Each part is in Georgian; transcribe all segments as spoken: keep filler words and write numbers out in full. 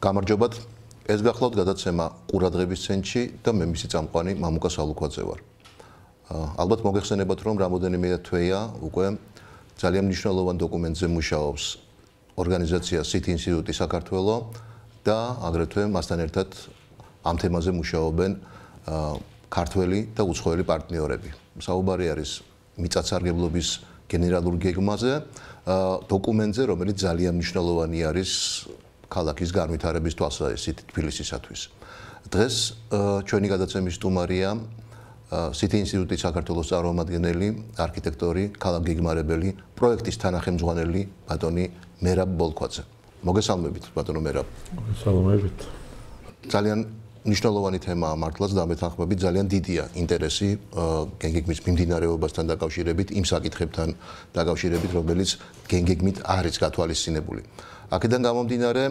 გამარჯობათ. ეს გახლავთ გადაცემა ყურადღების ცენტრში და მე მისი წამყვანი მამუკა სალუქვაძე ვარ. ალბათ მოგეხსენებათ, რომ რამოდენიმე თვეა უკვე ძალიან მნიშვნელოვან დოკუმენტზე მუშაობს ორგანიზაცია City ინსტიტუტი საქართველო და აგრეთვე მასთან ერთად ამ თემაზე მუშაობენ ქართველი და უცხოელი პარტნიორები. საუბარი არის მიწათსარგებლობის გენერალურ გეგმაზე, დოკუმენტზე, რომელიც ძალიან მნიშვნელოვანი არის ქალაქის განვითარების თვალსაზრისით თბილისისათვის. დღეს ჩვენი გადაცემის სტუმარია City ინსტიტუტის საქართველოს წარმომადგენელი, არქიტექტორი, ქალაქგეგმარებელი, პროექტის თანახმწვანელი ბატონი მერაბ ბოლქვაძე. მოგესალმებით, ბატონო მერაბ. მოგესალმებით. ძალიან მნიშვნელოვანი თემაა მართლაც და მეთანხმებით ძალიან დიდია ინტერესი გენგეგმის მიმდინარეობასთან დაკავშირებით, იმ საკითხებთან დაკავშირებით, რომელიც გენგეგმით არის გათვალისწინებული. აქედან გამომდინარე,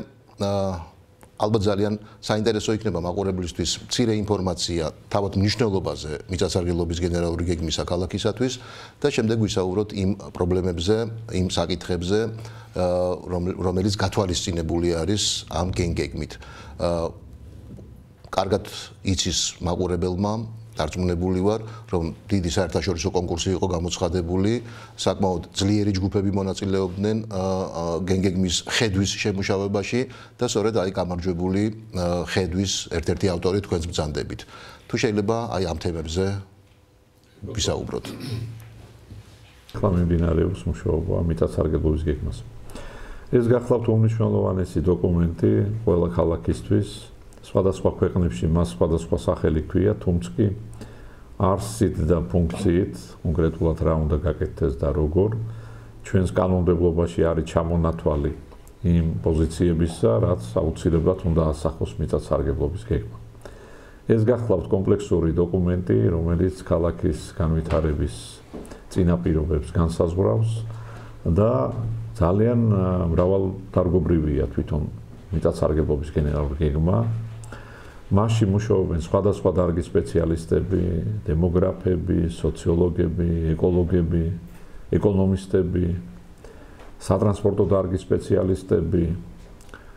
ალბათ ძალიან საინტერესო იქნება მაყურებლისთვის მცირე ინფორმაცია თავად მნიშვნელობაზე მიწათსარგებლობის გენერალური გეგმისა ქალაქისათვის და შემდეგ ვისაუბროთ იმ პრობლემებზე, იმ საკითხებზე, რომელიც გათვალისწინებული არის ამ გენგეგმით. კარგად იცის მაყურებელმა, დარწმუნებული ვარ, რომ დიდი საერთაშორისო კონკურსი იყო გამოცხადებული, საკმაოდ ძლიერი ჯგუფები მონაწილეობდნენ გენგეგმის ხედვის შემუშავებაში და სწორედ აი გამარჯვებული ხედვის ერთ-ერთი ავტორი თქვენს ბრძანდებით. თუ შეიძლება აი ამ თემებზე ვისაუბროთ. ახლა მიმდინარეობს მუშაობა მიწათსარგებლობის გეგმაზე. ეს გახლავთ უმნიშვნელოვანესი დოკუმენტი ყველა ქალაქისთვის. სხვადასხვა ქვეყნებში მას სხვადასხვა სახელი ჰქვია, თუმცა კი არსით და ფუნქციით კონკრეტულად რა უნდა გაკეთდეს და როგორ ჩვენს კანონმდებლობაში არის ჩამონათვალი იმ პოზიციებისა, რაც აუცილებლად უნდა ასახოს მიწათსარგებლობის გეგმა. ეს გახლავთ კომპლექსური დოკუმენტი, რომელიც ქალაქის განვითარების წინაპირობებს განსაზღვრავს და ძალიან მრავალდარგობრივია თვითონ მიწათსარგებლობის გენერალური გეგმა. მასში მუშაობენ სხვადასხვა დარგის სპეციალისტები, დემოგრაფები, სოციოლოგები, ეკოლოგები, ეკონომისტები, სატრანსპორტო დარგის სპეციალისტები,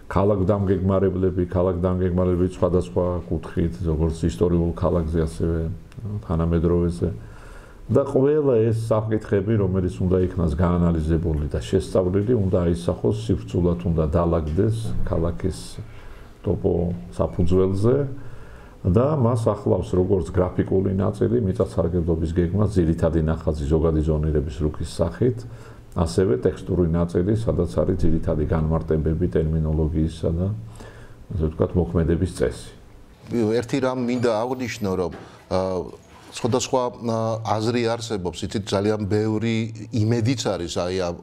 ქალაქგეგმარებლები, ქალაქგეგმარებლები სხვადასხვა კუთხით, როგორც ისტორიულ ქალაქზე, ასევე თანამედროვეზე. და ყველა ეს საკითხები, რომელიც უნდა იქნას გაანალიზებული და შესწავლილი, უნდა აისახოს სივრცულად, უნდა დაალაგდეს ქალაქის ტოპო საფუძველზე და მას ახლავს როგორც გრაფიკული ნაწილი მიწათსარგებლობის გეგმას, ძირითადი ნახაზი ზოგადი ზონირების რუქის სახით, ასევე ტექსტური ნაწილი, სადაც არის ძირითადი განმარტებები ტერმინოლოგიისა და ასე ვთქვათ, მოქმედების წესი. ერთი რამ მინდა აღვნიშნო, რომ სხვადასხვა აზრი არსებობს, იცით, ძალიან ბევრი იმედიც არის აი ამ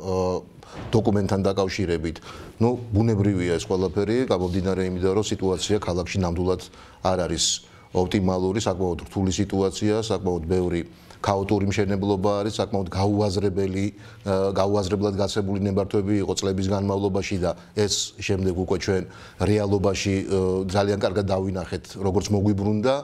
დოკუმენტთან დაკავშირებით. ნუ ბუნებრივია ეს ყველაფერი, გამომდინარე იმიდან, რომ სიტუაცია ქალაქში ნამდვილად არ არის ოპტიმალური, საკმაოდ რთული სიტუაცია, საკმაოდ ბევრი ქაოტური მშენებლობა არის, საკმაოდ გაუაზრებელი, გაუაზრებლად გასებული ნებართვები იყო წლების განმავლობაში და ეს შემდეგ უკვე ჩვენ რეალობაში ძალიან კარგად დავინახეთ, როგორც მოგვიბრუნდა.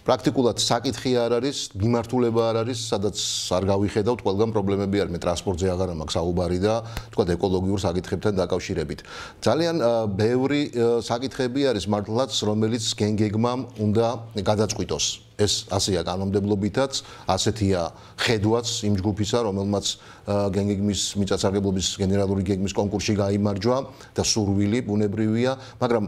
პრაქტიკულად საკითხი არ არის, მიმართულება არ არის, სადაც არ გავიხედავთ, ყველგან პრობლემები არის, მე ტრანსპორტზე აღარ მაქვს საუბარი და თქვა ეკოლოგიურ საკითხებთან დაკავშირებით. ძალიან ბევრი საკითხები არის მართლაც, რომელიც გენგეგმამ უნდა გადაწყვიტოს. ეს ასეა კანონმდებლობითაც, ასეთია ხედვაც იმ ჯგუფისა, რომელმაც გენგეგმის მიწათსარგებლობის გენერალური გეგმის კონკურსში გაიმარჯვა და სურვილი ბუნებრივია, მაგრამ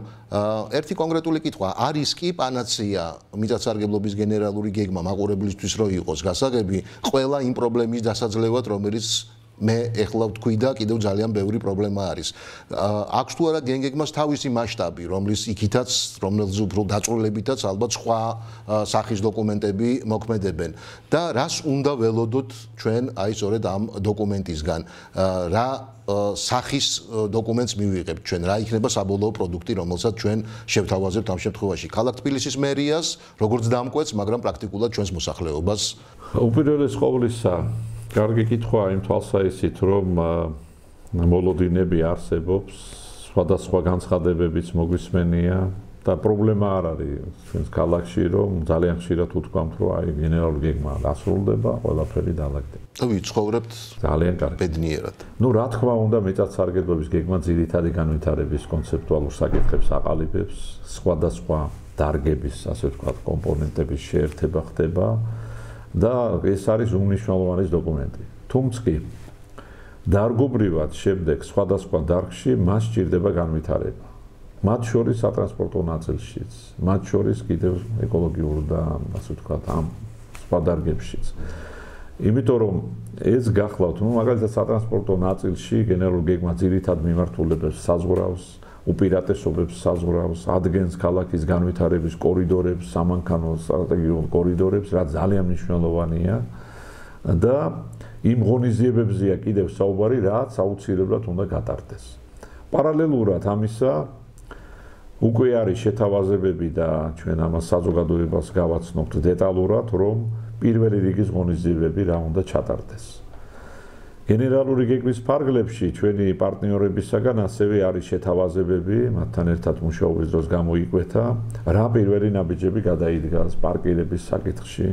ერთი კონკრეტული კითხვა, არის კი პანაცეა მიწათსარგებლობის გენერალური გეგმა მაყურებლისთვის რო იყოს გასაგები ყველა იმ პრობლემის დასაძლევად, რომელიც მე ეხლა ვთქვი და კიდევ ძალიან ბევრი პრობლემა არის. აქვს თუ არა გენგეგმას თავისი მასშტაბი, რომლის იქითაც, რომელზეც უფრო დაწვრილებითაც ალბათ სხვა სახის დოკუმენტები მოქმედებენ და რას უნდა ველოდოთ ჩვენ აი სწორედ ამ დოკუმენტისგან, რა სახის დოკუმენტს მივიღებთ ჩვენ, რა იქნება საბოლოო პროდუქტი, რომელსაც ჩვენ შევთავაზებთ ამ შემთხვევაში. ქალაქ თბილისის მერიას, როგორც დამკვეთს, მაგრამ პრაქტიკულად ჩვენს მოსახლეობას. უპირველეს ყოვლისა კარგი კითხვა იმ თვალსაზრისით, რომ მოლოდინები არსებობს, სხვადასხვა განცხადებებიც მოგვისმენია და პრობლემა არ არის ჩვენს ქალაქში, რომ ძალიან ხშირად უთქვამთ, რომ აი გენერალური გეგმა დასრულდება, ყველაფერი დაალაგდება. და ვიცხოვრებთ ძალიან კარგი. ბედნიერად. Ну, რა თქმა უნდა, მიწათსარგებლობის გეგმა ძირითადი განვითარების კონცეპტუალურ საკითხებს აყალიბებს, სხვადასხვა დარგების, ასე ვთქვათ, კომპონენტების შეერთება ხდება და ეს არის უმნიშვნელოვანესი დოკუმენტი. თუმცა დარგობრივად შემდეგ სხვადასხვა დარგში მას სჭირდება განვითარება. მათ შორის სატრანსპორტო ნაწილშიც, მათ შორის კიდევ ეკოლოგიურ და ასე ვთქვათ, ამ სხვა დარგებშიც. იმიტომ რომ ეს გახლავთ, ну, მაგალითად სატრანსპორტო ნაწილში გენერალური გეგმა ძირითად მიმართულებებს საზღვრავს, უპირატესობებს საზღვრავს, ადგენს ქალაქის განვითარების კორიდორებს, სამანქანო სტრატეგიულ კორიდორებს, რაც ძალიან მნიშვნელოვანია და იმ ღონისძიებებზეა კიდევ საუბარი, რაც აუცილებლად უნდა გატარდეს. პარალელურად ამისა უკვე არის შეთავაზებები და ჩვენ ამას საზოგადოებას გავაცნობთ დეტალურად, რომ პირველი რიგის ღონისძიებები რა უნდა ჩატარდეს. გენერალური გეგმის ფარგლებში ჩვენი პარტნიორებისაგან ასევე არის შეთავაზებები, მათთან ერთად მუშაობის დროს გამოიკვეთა, რა პირველი ნაბიჯები გადაიდგა პარკირების საკითხში.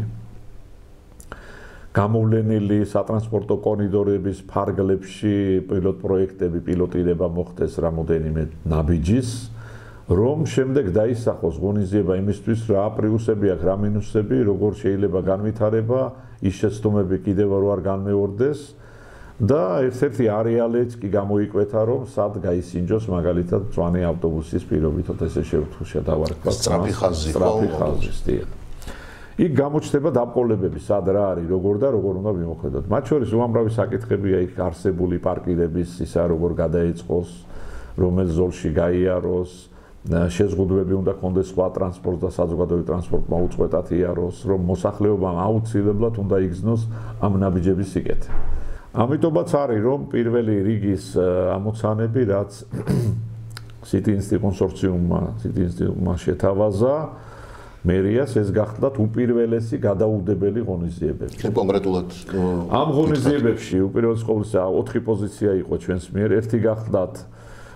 გამოვლენილი სატრანსპორტო კორიდორების ფარგლებში პილოტ პროექტები პილოტირება მოხდეს რამოდენიმე ნაბიჯის, რომ შემდეგ დაისახოს ღონისძიება იმისთვის, რა პლუსები აქვს, რა მინუსები, როგორ შეიძლება განვითარება, ის შეცდომები კიდევ არ განმეორდეს და ერთ-ერთი არეალიც კი გამოიკვეთა, რომ სად გაისინჯოს მაგალითად მწვანე ავტობუსის პირობითად ესე შევთხოვა სწრაფი ხაზი, სწრაფი ხაზი. იქ გამოჩნდება დაყოლებები, სად რა არის, როგორ და როგორ უნდა მიმოქმედოთ. მათ შორის უამრავი საკითხებია იქ არსებული პარკირების, ისა როგორ გადაეწყოს, რომელ ზოლში გაიაროს, შეზღუდვები უნდა კონდეს სხვა ტრანსპორტს და საზოგადოებრივ ტრანსპორტმა უწყვეტად იაროს, რომ მოსახლეობამ აუცილებლად უნდა იგრძნოს ამ ნაბიჯების სიკეთე. ამიტომაც არის, რომ პირველი რიგის ამოცანები, რაც City Insti კონსორციუმმა, City Insti-მა შეთავაზა, მერიას ეს გახლდათ უპირველესი გადაუდებელი ღონისძიებები. კონკრეტულად ამ ღონისძიებებში უპირველეს ყოვლისა ოთხი პოზიცია იყო ჩვენს მიერ, ერთი გახლდათ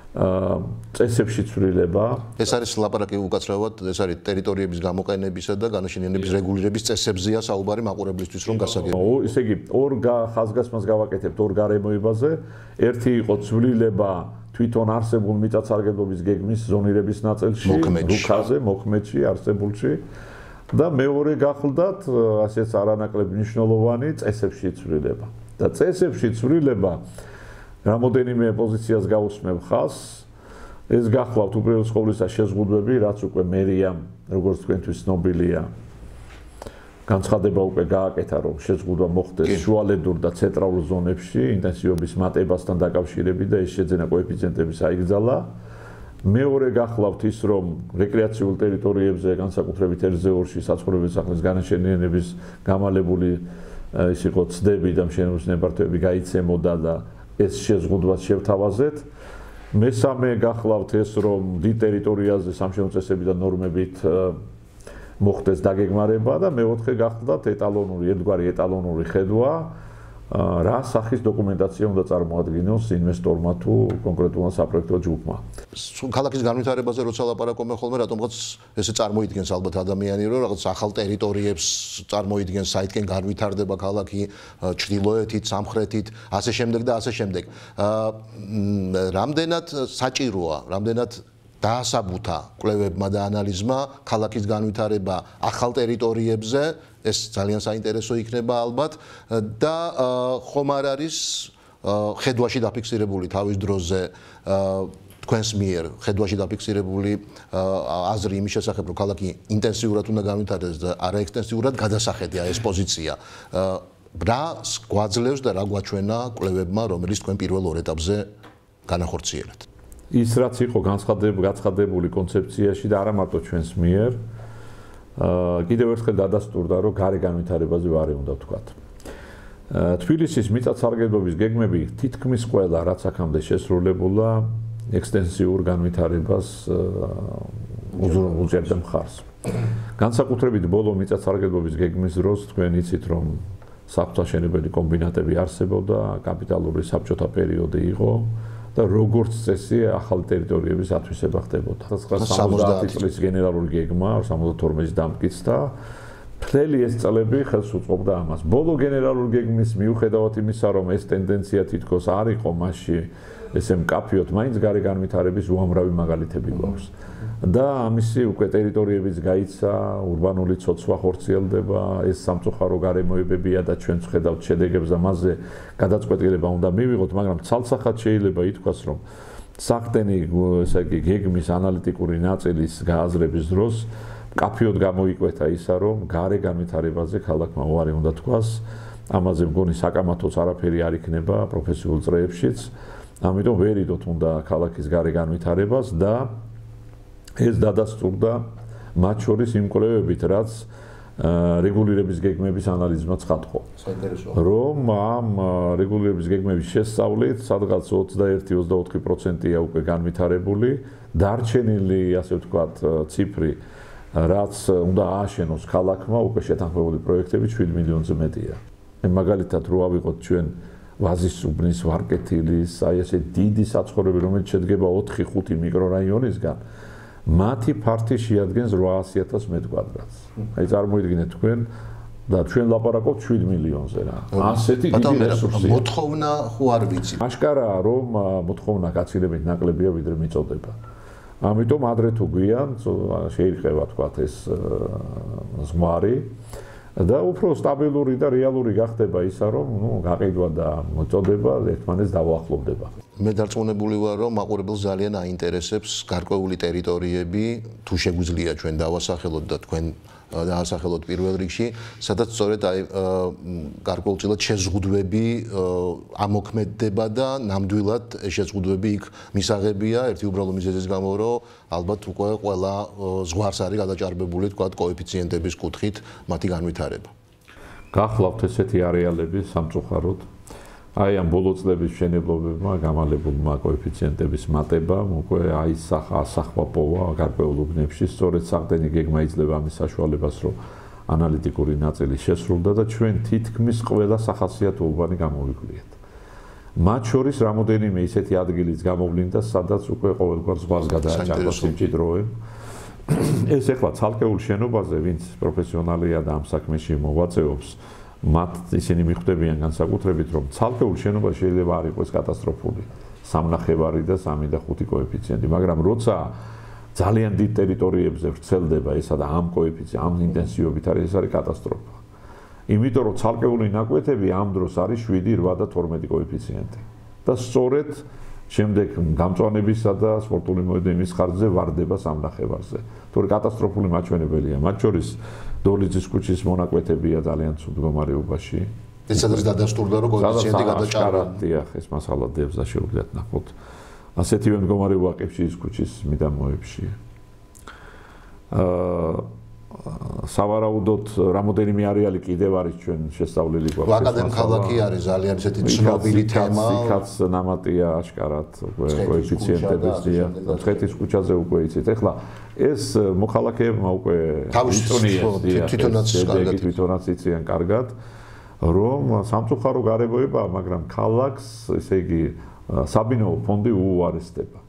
წესებში ცვლილება. ეს არის ლაპარაკი უკაცრავად, ეს არის ტერიტორიების გამოყენებისა და განაშენიანების რეგულირების წესებზეა საუბარი მაყურებლისთვის რომ გასაგებია. ისე იგი ორ ხაზგასმას გავაკეთებთ ორ გარემოებაზე. ერთი იყო ცვლილება თვითონ არსებულ მიწათსარგებლობის გეგმის ზონირების ნაწილში, რუქაზე, მოქმედში, არსებულში და მეორე გახლდათ, ასეც არანაკლებ მნიშვნელოვანი წესებში ცვლილება. და წესებში ცვლილება რამოდენიმე პოზიციას გაუსმევ ხაზს. ეს გახლავთ უპირველეს ყოვლისა შეზღუდვები, რაც უკვე მერიამ, როგორც თქვენთვის ცნობილია, განცხადება უკვე გააკეთა, რომ შეზღუდვა მოხდეს შუალედურ და ცენტრალურ ზონებში ინტენსივობის მატებასთან დაკავშირებით და ეს შეძენა კოეფიციენტების აიგზალა. მეორე გახლავთ ის, რომ რეკრეაციულ ტერიტორიებზე, განსაკუთრებით ელზეორში, საცხოვრებელი სახლის განაშენიანების გამალებული ის იყო ცდები და მშენებლობის ნებართვები გაიცემოდა და ეს შეზღუდვას შევთავაზეთ. მესამე გახლავთ ეს, რომ დიდ ტერიტორიაზე სამშენებლო წესები და ნორმებით მოხდეს დაგეგმარება და მეოთხე გახლდათ ეტალონური, ერთგვარი ეტალონური ხედვა, რა სახის დოკუმენტაცია უნდა წარმოადგინოს ინვესტორმა თუ კონკრეტულად საპროექტო ჯგუფმა. ქალაქის განვითარებაზე როცა ლაპარაკობენ ხოლმე, რატომღაც ესე წარმოიდგენს ალბათ ადამიანი, რომ რაღაც ახალ ტერიტორიებს წარმოიდგენს, საითკენ განვითარდება ქალაქი, ჩრდილოეთით, სამხრეთით, ასე შემდეგ და ასე შემდეგ. რამდენად საჭიროა, რამდენად დაასაბუთა კვლევებმა და ანალიზმა ქალაქის განვითარება ახალ ტერიტორიებზე, ეს ძალიან საინტერესო იქნება ალბათ და ხომ არ არის ხედვაში დაფიქსირებული თავის დროზე თქვენს მიერ ხედვაში დაფიქსირებული აზრი იმის შესახებ, რომ ქალაქი ინტენსიურად უნდა განვითარდეს და არა ექსტენსიურად გადასახედია ეს პოზიცია. რა გვაძლევს და რა გვაჩვენა კვლევებმა, რომელიც თქვენ პირველ ორ ეტაპზე განახორციელებთ? ის რაც იყო განცხადებული კონცეფციაში და არა მარტო ჩვენს მიერ, კიდევ ერთხელ დადასტურდა, რომ გარე განვითარებაზე ვარი უნდა ვთქვათ. თბილისის მიწათსარგებლობის გეგმები თითქმის ყველა, რაც აქამდე შესრულებულა, ექსტენსიურ განვითარებას უზრუნველყოფდა მხარს. განსაკუთრებით ბოლო მიწათსარგებლობის გეგმის დროს თქვენ იცით, რომ საფრთხაშენებელი კომბინატები არსებობდა, კაპიტალური საბჭოთა პერიოდი იყო. და როგორც წესი ახალი ტერიტორიების ათვისება ხდებოდა. სამოცდაათი წლის გენერალური გეგმა სამოცდათორმეტი დამტკიცდა. მთელი ეს წლები ხელს უწყობდა ამას. ბოლო გენერალური გეგმის მიუხედავად იმისა, რომ ეს ტენდენცია თითქოს არ იყო მასში ესე მკაფიოდ, მაინც გარე განვითარების უამრავი მაგალითები გვაქვს. და ამისი უკვე ტერიტორიებიც გაიცა, ურბანული ცოცვა ხორციელდება, ეს სამწუხარო გარემოებებია და ჩვენც ხედავთ შედეგებს და მასზე გადაწყვეტილება უნდა მივიღოთ, მაგრამ ცალსახად შეიძლება ითქვას, რომ საყდენი ესე იგი გეგმის ანალიტიკური ნაწილის გააზრების დროს მკაფიოდ გამოიკვეთა ისა, რომ გარე განვითარებაზე ქალაქმა უარი უნდა თქვას, ამაზე მგონი საკამათოც არაფერი არ იქნება პროფესიულ წრეებშიც. ამიტომ ვერიდოთ უნდა ქალაქის გარე განვითარებას და ეს დადასტურდა მათ შორის იმ კვლევებით, რაც რეგულირების გეგმების ანალიზმა ცხადყო. რომ ამ რეგულირების გეგმების შესწავლით სადღაც ოცდაერთი ოცდაოთხი პროცენტია უკვე განვითარებული, დარჩენილი, ასე ვთქვათ, ციფრი, რაც უნდა ააშენოს ქალაქმა, უკვე შეთანხმებული პროექტები შვიდ მილიონზე მეტია. მაგალითად, რო ავიღოთ ჩვენ ვაზის უბნის, ვარკეთილის, აი ესე დიდი საცხოვრებელი, რომელიც შედგება ოთხი ხუთი მიკრორაიონისგან, მათი ფართი შეადგენს ოცდაათი ათასი მეტր კვადრატს. აი წარმოიდგინეთ თქვენ და ჩვენ ლაპარაკობთ შვიდ მილიონზე რა. ასეთი დიდი რესურსია. მოთხოვნა ხო არ ვიცი. აშკარაა, რომ მოთხოვნა გაცილებით ნაკლებია, ვიდრე მიწოდება. ამიტომ ადრე თუ გვიან შეირყევა თქვათ ეს ზღვარი და უფრო სტაბილური და რეალური გახდება ისა, რომ ნუ გაყიდვა და მოწოდება ერთმანეთს დაუახლოვდება. მე დარწმუნებული ვარ, რომ მაყურებელს ძალიან აინტერესებს გარკვეული ტერიტორიები, თუ შეგვიძლია ჩვენ დავასახელოთ და თქვენ დაასახელოთ პირველ რიგში, სადაც სწორედ აი გარკვეულწილად შეზღუდვები ამოქმედდება და ნამდვილად ეს შეზღუდვები იქ მისაღებია ერთი უბრალო მიზეზის გამო, რომ ალბათ უკვე ყველა ზღვარს არის გადაჭარბებული თქვა კოეფიციენტების კუთხით მათი განვითარება. გახლავთ ესეთი არეალები სამწუხაროდ. აი ამ ბოლო წლების მშენებლობებმა გამალებულმა კოეფიციენტების მატებამ უკვე აისახა ასახვა პოვა გარკვეულ უბნებში, სწორედ საყდენი გეგმა იძლევა ამის საშუალებას, რომ ანალიტიკური ნაწილი შესრულდა და ჩვენ თითქმის ყველა სახასიათო უბანი გამოვიკვლიეთ. მათ შორის რამოდენიმე ისეთი ადგილიც გამოვლინდა, სადაც უკვე ყოველგვარ ზღვას გადააჭარბა სიმჭიდროვე. ეს ეხლა ცალკეულ შენობაზე, ვინც პროფესიონალია და ამ საქმეში მოღვაწეობს, მათ ისინი მიხვდებიან განსაკუთრებით, რომ ცალკეულ შენობაში შეიძლება არ იყოს კატასტროფული სამნახევარი და სამი და ხუთი კოეფიციენტი, მაგრამ როცა ძალიან დიდ ტერიტორიებზე ვრცელდება ესა და ამ კოეფიციენტი, ამ ინტენსივობით არის, ეს არის კატასტროფა. იმიტომ რომ ცალკეული ნაკვეთები ამ დროს არის შვიდი, რვა და თორმეტი კოეფიციენტი. და სწორედ შემდეგ გამწვანებისა და სპორტული მოედნის ხარჯზე ვარდება სამნახევარზე. თორე კატასტროფული მაჩვენებელია, მათ შორის დოლიძის ქუჩის მონაკვეთებია ძალიან ცუდ მდგომარეობაში. ეს სადაც დადასტურდა, რომ კოეფიციენტი გადაჭარბა. დიახ, ეს მასალა დევზა შეუძლიათ ნახოთ. ასეთივე მდგომარეობა კეფშის ქუჩის მიდამოებში. აა სავარაუდოდ რამოდენიმე არეალი კიდევ არის ჩვენ შესწავლილი გვაქვს. აკადემ ქალაქი არის ძალიან ესეთი ცნობილი თემა. იქაც ნამატია აშკარად კოეფიციენტების დია. ცხეთის ქუჩაზე უკვე იცით. ეხლა ეს მოქალაქეებმა უკვე თვითონაც კარგად თვითონაც იციან კარგად, რომ სამწუხარო გარემოებაა, მაგრამ ქალაქს, ესე იგი, საბინაო ფონდი უუარესდება.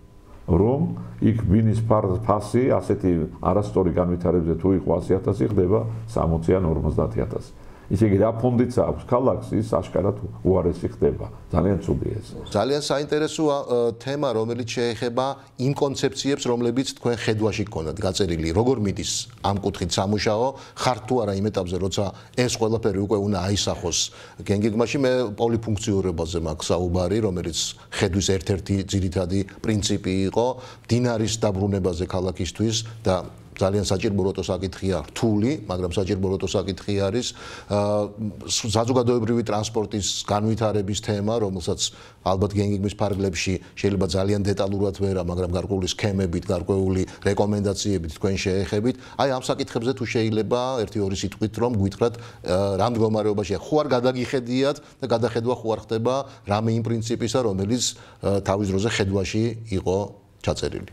რომ იქ ბინის ფასი ასეთი არასწორი განვითარებებზე თუ იყო ასი ათასი ხდება სამოცი ან ორმოცდაათი ათასი. ისე იგი რა ფონდიც აქვს ქალაქს, ის აშკარად უარესი ხდება. ძალიან ცუდია ეს. ძალიან საინტერესოა თემა, რომელიც შეეხება იმ კონცეფციებს, რომლებიც თქვენ ხედვაში გქონდათ გაწერილი. როგორ მიდის ამ კუთხით სამუშაო, ხართ თუ არა იმ ეტაპზე, როცა ეს ყველაფერი უკვე უნდა აისახოს გენგეგმაში, მე პოლიფუნქციურობაზე მაქვს საუბარი, რომელიც ხედვის ერთ-ერთი ძირითადი პრინციპი იყო, მდინარის დაბრუნებაზე ქალაქისთვის და ძალიან საჭირო როტო საკითხია რთული, მაგრამ საჭირო როტო საკითხი არის საზოგადოებრივი ტრანსპორტის განვითარების თემა, რომელსაც ალბათ გენგეგმის ფარგლებში შეიძლება ძალიან დეტალურად ვერა, მაგრამ გარკვეული სქემებით, გარკვეული რეკომენდაციებით თქვენ შეეხებით. აი ამ საკითხებზე თუ შეიძლება ერთი ორი სიტყვით რომ გვითხრათ რა მდგომარეობაშია, ხო არ გადაგიხედიათ და გადახედვა ხო არ ხდება რამე იმ პრინციპისა, რომელიც თავის დროზე ხედვაში იყო ჩაწერილი.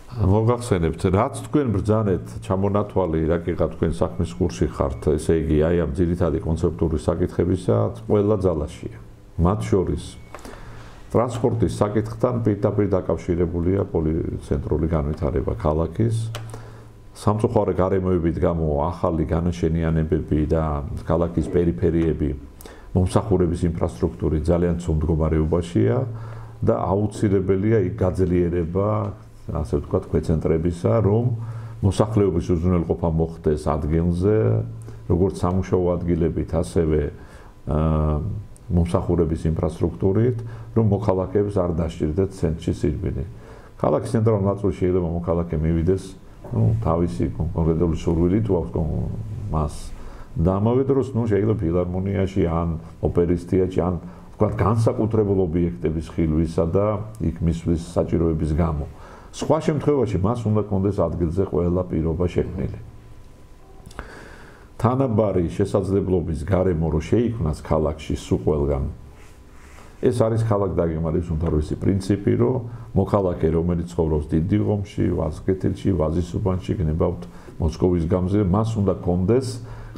მოგახსენებთ, რაც თქვენ ბრძანეთ ჩამონათვალი, რა კი თქვენ საქმის კურსში ხართ, ესე იგი, აი ამ ძირითადი კონცეპტური საკითხებისა ყველა ძალაშია. მათ შორის ტრანსპორტის საკითხთან პირდაპირ დაკავშირებულია პოლიცენტრული განვითარება ქალაქის. სამწუხარო გარემოებით გამო ახალი განაშენიანებები და ქალაქის პერიფერიები მომსახურების ინფრასტრუქტურით ძალიან ცუდ მდგომარეობაშია და აუცილებელია იქ გაძლიერება, ასე ვთქვათ, ქვეცენტრებისა, რომ მოსახლეობის უზრუნველყოფა მოხდეს ადგილზე, როგორც სამუშაო ადგილებით, ასევე მომსახურების ინფრასტრუქტურით, რომ მოქალაქეებს არ დასჭირდეთ ცენტრში სირბილი. ქალაქის ცენტრალურ ნაწილში შეიძლება მოქალაქე მივიდეს, ну, თავისი კონკრეტული სურვილით უაქვს მას. და ამავე დროს, ну, შეიძლება ფილარმონიაში ან ოპერის თეატრში ან ვთქვათ, განსაკუთრებულ ობიექტების ხილვისა და იქ მისვლის საჭიროების გამო. სხვა შემთხვევაში მას უნდა კონდეს ადგილზე ყველა პირობა შექმნილი. თანაბარი შესაძლებლობის გარემო რო შეიქმნას ქალაქში სულ ყველგან. ეს არის ქალაქ დაგემარების უმთავრესი პრინციპი, რომ მოქალაქე, რომელიც ცხოვრობს დიდი ღომში, ვაზკეთილში, ვაზისუბანში, გნებავთ მოსკოვის გამზე, მას უნდა კონდეს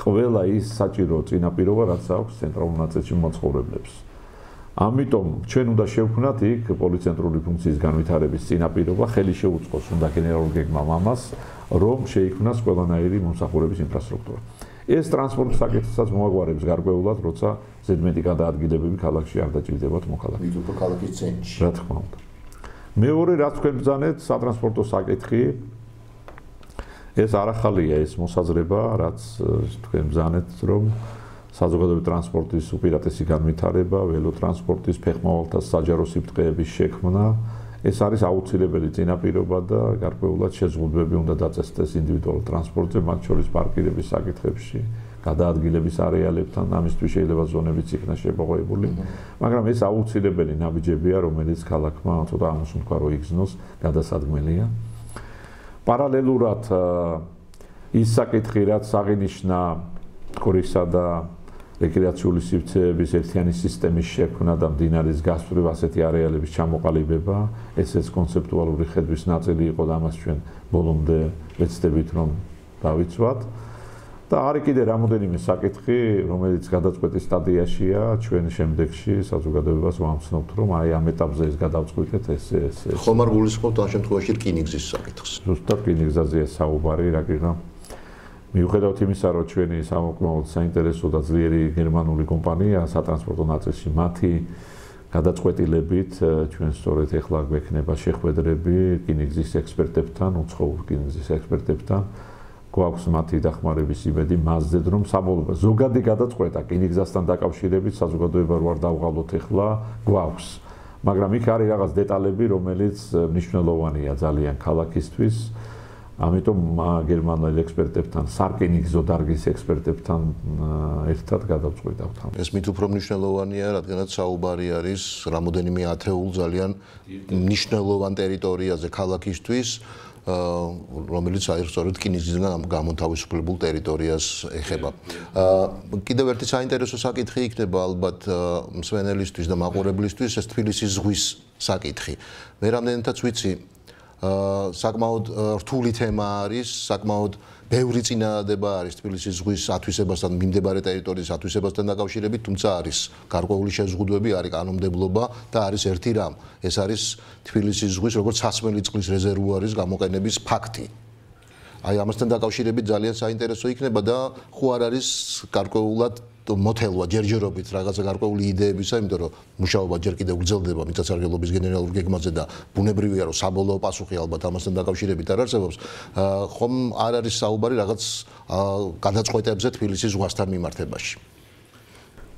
ყველა ის საჭირო წინაპირობა, რაც აქვს ცენტრალურ ნაწილში მოცხოვრებლებს. ამიტომ ჩვენ უნდა შევქმნათ იქ პოლიცენტრული ფუნქციის განვითარების წინაპირობა, ხელი შეუწყოს უნდა გენერალურ გეგმამ ამას, რომ შეიქმნას ყველანაირი მომსახურების ინფრასტრუქტურა. ეს ტრანსპორტ საკითხსაც მოაგვარებს გარკვეულად, როცა ზედმეტი გადაადგილებები ქალაქში არ დაჭირდებათ მოქალაქეს. მით უფრო ქალაქის ცენტრში. რა თქმა უნდა. მეორე, რაც თქვენ ბრძანეთ, სატრანსპორტო საკითხი, ეს არ ახალია ეს მოსაზრება, რაც თქვენ ბრძანეთ, რომ საზოგადოებრივი ტრანსპორტის უპირატესი განვითარება, ველოტრანსპორტის, ფეხმავალთა საჯარო სიბრტყეების შექმნა, ეს არის აუცილებელი წინაპირობა და გარკვეულად შეზღუდვები უნდა დაწესდეს ინდივიდუალურ ტრანსპორტზე, მათ შორის პარკირების საკითხებში, გადაადგილების არეალებთან, ამისთვის შეიძლება ზონებიც იქნა შემოღებული, მაგრამ ეს აუცილებელი ნაბიჯებია, რომელიც ქალაქმა ცოტა ამას უნდა რო იგზნოს, გადასადგმელია. პარალელურად ის საკითხი, რაც აღინიშნა კორისა და რეკრეაციული სივრცეების ერთიანი სისტემის შექმნა და მდინარის გასწვრივ ასეთი არეალების ჩამოყალიბება, ესეც კონცეპტუალური ხედვის ნაწილი იყო და ამას ჩვენ ბოლომდე ვეცდებით რომ დავიცვათ. და არის კიდე რამოდენიმე საკითხი, რომელიც გადაწყვეტის სტადიაშია, ჩვენ შემდეგში საზოგადოებას ვამცნობთ, რომ აი ამ ეტაპზე ეს გადავწყვიტეთ, ეს ეს ხომ არ გულისხმობთ ამ შემთხვევაში რკინიგზის საკითხს. ზუსტად რკინიგზაზეა საუბარი, რა გიგა. მიუხედავად იმისა, რომ ჩვენი სამოქმედო საინტერესო და ძლიერი გერმანული კომპანია სატრანსპორტო ნაწილში მათი გადაწყვეტილებით ჩვენ სწორედ ეხლა გვექნება შეხვედრები რკინიგზის ექსპერტებთან, უცხოურ რკინიგზის ექსპერტებთან, გვაქვს მათი დახმარების იმედი მასზედ, რომ საბოლოო ზოგადი გადაწყვეტა რკინიგზასთან დაკავშირებით საზოგადოება რო არ დავღალოთ ეხლა გვაქვს, მაგრამ იქ არის რაღაც დეტალები, რომელიც მნიშვნელოვანია ძალიან ქალაქისთვის. ამიტომ გერმანულ ექსპერტებთან, სარკინიგზო დარგის ექსპერტებთან ერთად გადავწყვიტავთ ამას. ეს მით უფრო მნიშვნელოვანია, რადგანაც საუბარი არის რამოდენიმე ათეულ ძალიან მნიშვნელოვან ტერიტორიაზე ქალაქისთვის, რომელიც აი სწორედ რკინიგზიდან გამოთავისუფლებულ ტერიტორიას ეხება. კიდევ ერთი საინტერესო საკითხი იქნება ალბათ მსვენელისთვის და მაყურებლისთვის, ეს თბილისის ზღვის საკითხი. მე რამდენადაც ვიცი, საკმაოდ რთული თემა არის, საკმაოდ ბევრი წინადადება არის თბილისის ზღვის ათვისებასთან, მიმდებარე ტერიტორიის ათვისებასთან დაკავშირებით, თუმცა არის გარკვეული შეზღუდვები, არის კანონმდებლობა და არის ერთი რამ, ეს არის თბილისის ზღვის როგორც სასმელი წყლის რეზერვუარის გამოყენების ფაქტი. აი ამასთან დაკავშირებით ძალიან საინტერესო იქნება და ხო არ არის გარკვეულად მოთელვა ჯერჯერობით რაღაცა გარკვეული იდეებისა, იმიტომ რომ მუშაობა ჯერ კიდევ გრძელდება მიწათსარგებლობის გენერალურ გეგმაზე და ბუნებრივია რომ საბოლოო პასუხი ალბათ ამასთან დაკავშირებით არ არსებობს, ხომ არ არის საუბარი რაღაც გადაწყვეტებზე თბილისის ზღვასთან მიმართებაში.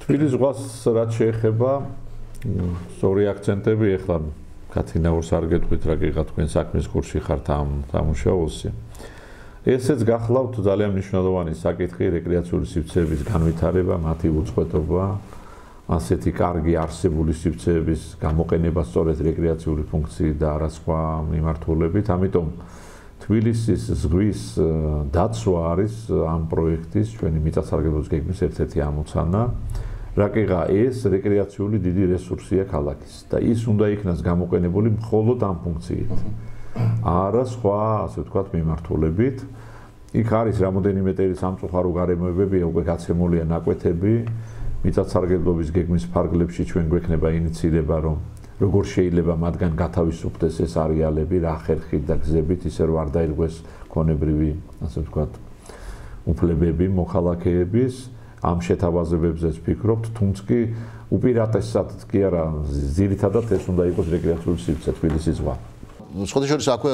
თბილისის ზღვას რაც შეეხება, სწორი აქცენტები ეხლა კათინაურს არ გეტყვით რა გიღა თქვენ საქმის კურსში ხართ ამ სამუშაოსი. ესეც გახლავთ ძალიან მნიშვნელოვანი საკითხი რეკრეაციული სივრცეების განვითარება, მათი უწყვეტობა, ასეთი კარგი არსებული სივრცეების გამოყენება სწორედ რეკრეაციული ფუნქციით და არა სხვა მიმართულებით. ამიტომ თბილისის ზღვის დაცვა არის ამ პროექტის ჩვენი მიწათსარგებლობის გეგმის ერთ-ერთი ამოცანა. რაკიღა ეს რეკრეაციული დიდი რესურსია ქალაქის და ის უნდა იქნას გამოყენებული მხოლოდ ამ ფუნქციით. არა სხვა, ასე ვთქვათ, მიმართულებით. იქ არის რამოდენიმე ტერი სამწუხარო გარემოებები, უკვე გაცემულია ნაკვეთები. მიწათსარგებლობის გეგმის ფარგლებში ჩვენ გვექნება ინიციირება, რომ როგორ შეიძლება მათგან გათავისუფლდეს ეს არეალები რა ხერხით და გზებით, ისე რომ არ დაირღვეს ქონებრივი, ასე ვთქვათ, უფლებები მოქალაქეების, ამ შეთავაზებებზეც ვფიქრობთ, თუმცა კი უპირატესად კი არა, ძირითადად ეს უნდა იყოს რეკრეაციული სივრცე თბილისის ზღვა. სხვადასხვა აქვე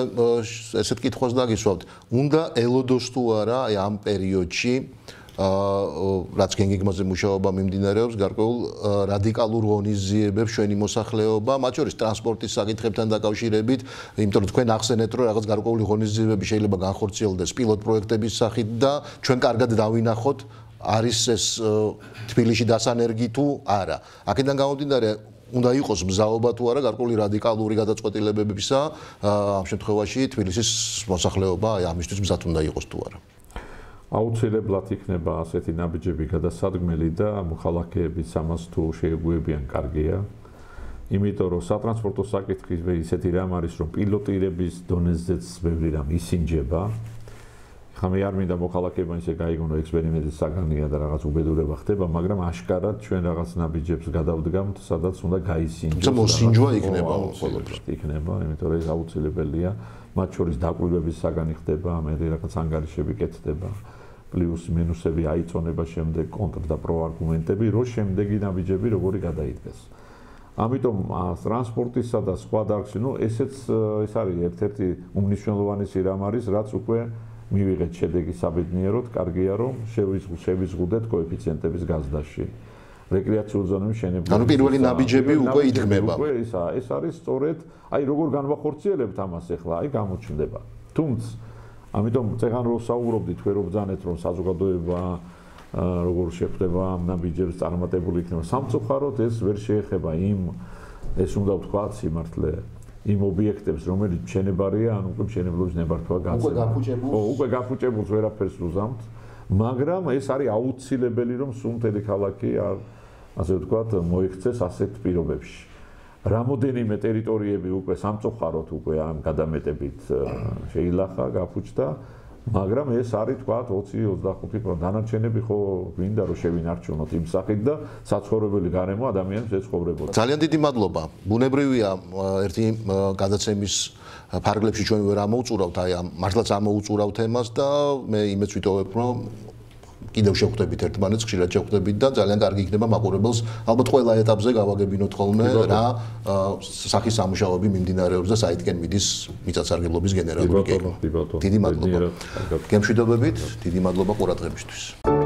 ესეთ კითხვას დაგისვავთ, უნდა ელოდოს თუ არა აი ამ პერიოდში რაც გენგიგმაზე მუშაობა მიმდინარეობს, გარკვეულ რადიკალურ ღონისძიებებს ჩვენი მოსახლეობა, მათ შორის ტრანსპორტის საკითხებთან დაკავშირებით, იმიტომ რომ თქვენ ახსენეთ, რომ რაღაც გარკვეული ღონისძიებები შეიძლება განხორციელდეს პილოტ პროექტების სახით და ჩვენ კარგად დავინახოთ, არის ეს თბილისში დასანერგი თუ არა. აქედან გამომდინარე, უნდა იყოს მზაობა თუ არა გარკვეული რადიკალური გადაწყვეტილებებისა, ამ შემთხვევაში თბილისის მოსახლეობა აი ამისთვის მზად უნდა იყოს თუ არა. აუცილებლად იქნება ასეთი ნაბიჯები გადასადგმელი და მოქალაქეების ამას თუ შეეგუებიან კარგია. იმიტომ რომ სატრანსპორტო საკითხი ისეთი რამ არის, რომ პილოტირების დონეზეც ბევრი რამ ისინჯება. ხა მე არ მინდა მოქალაქეებმა ისე გაიგონო ექსპერიმენტის საგანია და რაღაც უბედურება ხდება, მაგრამ აშკარად ჩვენ რაღაც ნაბიჯებს გადავდგამთ, სადაც უნდა გაისინჯოს. თუმცა მოსინჯვა იქნება ყოველთვის. იქნება, იმიტომ რომ ეს აუცილებელია. მათ შორის დაკვირვების საგანი ხდება, მე რაღაც ანგარიშები კეთდება. პლუს მინუსები აიწონება შემდეგ კონტრ და პრო არგუმენტები, რო შემდეგი ნაბიჯები როგორი გადაიდგეს. ამიტომ ტრანსპორტისა და სხვა დარგში, ნუ ესეც ეს არის ერთ-ერთი უმნიშვნელოვანი სირამ არის, რაც უკვე მივიღეთ შედეგი საბედნიეროდ, კარგია რომ შევიზღუდეთ კოეფიციენტების გაზრდაში. რეკრეაციულ ზონებში შენება. ანუ პირველი ნაბიჯები უკვე იდგმება. უკვე ისა, ეს არის სწორედ, აი როგორ განვახორციელებთ ამას ახლა, აი გამოჩნდება. თუმცა ამიტომ წეგან რო საუბრობდით, თქვენ რო ბრძანეთ რომ საზოგადოება როგორ შეხვდება ამ ნაბიჯებს წარმატებული იქნება. სამწუხაროდ ეს ვერ შეეხება იმ ეს უნდა ვთქვათ სიმართლე იმ ობიექტებს, რომელიც მშენებარია, ან უკვე მშენებლობის ნებართვა გაწევა. უკვე გაფუჭებულს. ხო, უკვე გაფუჭებულს ვერაფერს უზამთ, მაგრამ ეს არის აუცილებელი, რომ სუნთელი ქალაქი ასე ვთქვათ, მოიქცეს ასეთ პირობებში. რამოდენიმე ტერიტორიები უკვე სამწუხაროდ უკვე ამ გადამეტებით შეილახა, გაფუჭდა, მაგრამ ეს არის თქვათ ოცი ოცდახუთი პროცენტი დანარჩენები ხო გვინდა რომ შევინარჩუნოთ იმ სახით და საცხოვრებელი გარემო ადამიანებს ეცხოვრებოდა. ძალიან დიდი მადლობა. ბუნებრივია ერთი გადაცემის ფარგლებში ჩვენ ვერ ამოუწურავთ, აი ამ მართლაც ამოუწურავთ თემას და მე იმეც ვიტოვებ რომ კიდევ შევხვდებით ერთმანეთს, ხშირად შევხვდებით და ძალიან კარგი იქნება მაყურებელს ალბათ ყველა ეტაპზე გავაგებინოთ ხოლმე რა სახის სამუშაოები მიმდინარეობს და საითკენ მიდის მიწათსარგებლობის გენერალური კეი. დიდი მადლობა. გემშვიდობებით, დიდი მადლობა ყურადღებისთვის.